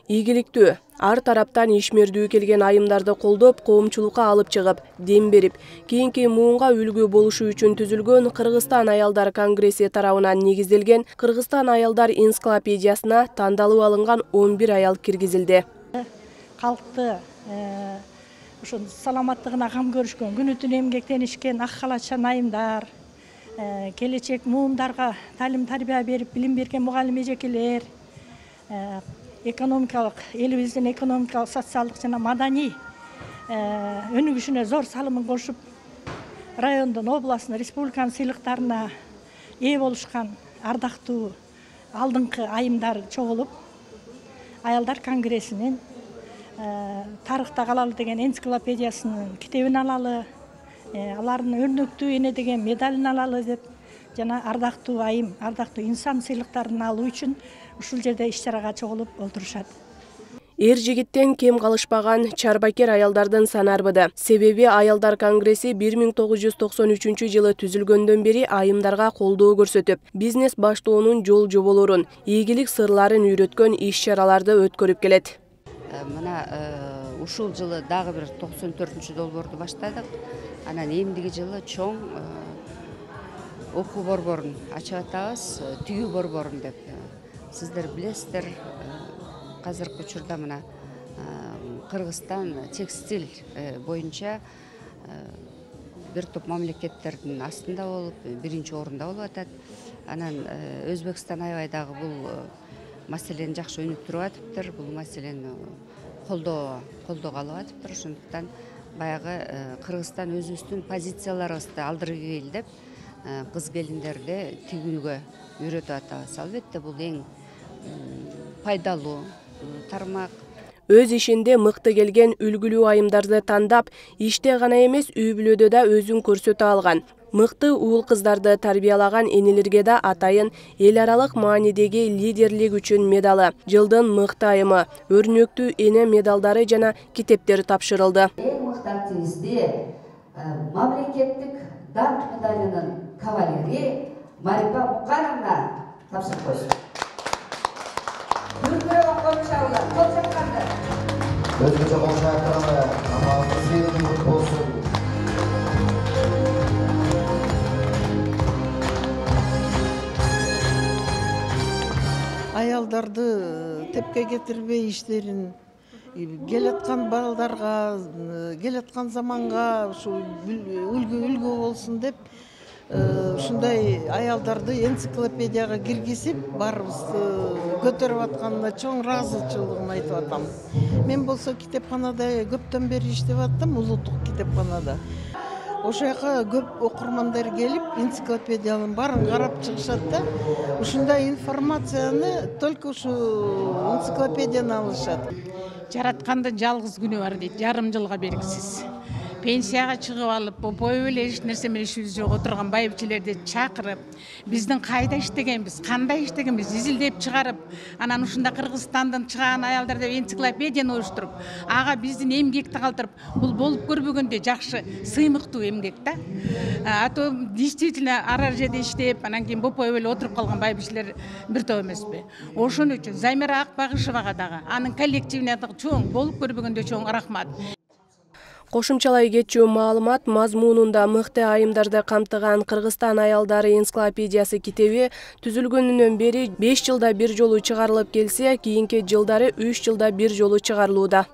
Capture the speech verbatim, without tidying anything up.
Ийгиликтүү, ар тараптан ишмердүү келген айымдарды колдоп, коомчулукка алып чыгып, дем берип, кийинки муунга үлгү болушу үчүн түзүлгөн Кыргызстан аялдар конгресси тарабынан негизделген Кыргызстан аялдар энциклопедиясына тандалып алынган он бир аял киргизилди. Калкты ошо саламаттыгына кам көрүшкөн, күнү түнү эмгектенишкен ак халатчан айымдар, келечек муундарга талим тарбия берип билим берген мугалим эжекелер, экономикалык элибиздин экономикалык, социалдык жана маданий өнүгүшүнө зор салымын кошуп, райондун, областтын, республиканын сыйлыктарына ээ болушкан ардактуу алдыңкы айымдар чогулуп, аялдар конгрессинин тарыхта калалы деген энциклопедиясынын китебин алалы, алардын өрнөктүү эне деген медалин алалы деп жана ардактуу айым, ардактуу инсан сыйлыктарын алуу үчүн ушул жерде иш-чарага чогулуп олтурушат. Эр жигиттен кем калышпаган чарбакер аялдардын саны арбыды. Себеби аялдар конгресси бир миң тогуз жүз токсон үчүнчү жылы түзүлгөндөн бери айымдарга колдоо көрсөтүп, бизнес баштоонун жол жоболорун, ийгилик сырларын үйрөткөн иш-чараларды өткөрүп келет. Мына ушул жылы дагы бир токсон төртүнчү долбоорду баштадык. Анан эмдиги жылы чоң окуу борборун ачып атабыз, түйүү борборун деп. Сиздер билесиздер, азыркы учурда мына Кыргызстан текстиль боюнча бир топ мамлекеттердин астында болуп, биринчи орунда болуп атат. Анан Өзбекстан аябай дагы бул маселени жакшы өнүктүрүп атыптыр. Бул маселени колдоо колдоого алып атыптыр. Ошондуктан баягы Кыргызстан өзүбүздүн позицияларыбызды алдыргы келдеп, кыз келиндерди тигүүгө үйрөтүп атабыз. Албетте бул эң пайдалуу тармак. Өз ишинде мыкты келген үлгүлүү айымдарды тандап, иште гана эмес, үй бүлөдө да өзүн көрсөтө алган. Мыкты уул кыздарды тарбиялаган энелерге да атайын эл аралык маанидеги лидерлик үчүн медалы, жылдын мыкты айымы, өрнөктүү эне медалдары жана китептер тапшырылды. Эң мыкты активистти мамлекеттик данк медалынын кавалери Марипа Мукановна тапшырып койсун. Өзгөчө кол шаяртыралы, амалыңыз сыйынып кут болсун. Аялдарды тепке кетирбей иштерин, келаткан балдарга, келаткан заманга ушу үлгү үлгү болсун деп ушундай аялдарды энциклопедияга киргизип, баарыбызды көтөрүп атканына чоң ыраазычылыгымды айтып атам. Мен болсо китепканада көптөн бери иштеп аттым, улуттук китепканада. Ошол жака көп окурмандар келип, энциклопедиянын баарын карап чыгышат да, ушундай информацияны только ушу энциклопедияны алышат. Жараткандын жалгыз күнү бар дейт, жарым жылга белгисиз. Пенсияга чыгып алып, бою эле эч нерсе менен ишибиз жок отурган байбичелерди чакырып, биздин кайда иштегенбиз, кандай иштегенбиз изилдеп чыгарып, анан ушунда Кыргызстандын чыгаан аялдар деп энциклопедияны уюштуруп, ага биздин эмгекти калтырып, бул болуп көрбөгөндө жакшы, сыймыктуу эмгек да. А то действительно ар жерде иштеп, анан кийин бопой эле отуруп калган байбичелер бир топ эмеспи. Ошон үчүн Замира Акбагышевага дагы, анын коллективине дагы чоң, болуп көрбөгөндө чоң рахмат. Кошумчалай кетчү маалымат мазмунунда мыкты айымдарды камтыган Кыргызстан аялдары энциклопедиясы китеби түзүлгөнүнөн бери беш жылда бир жолу чыгарылып келсе, кийинки жылдары үч жылда бир жолу чыгарылууда.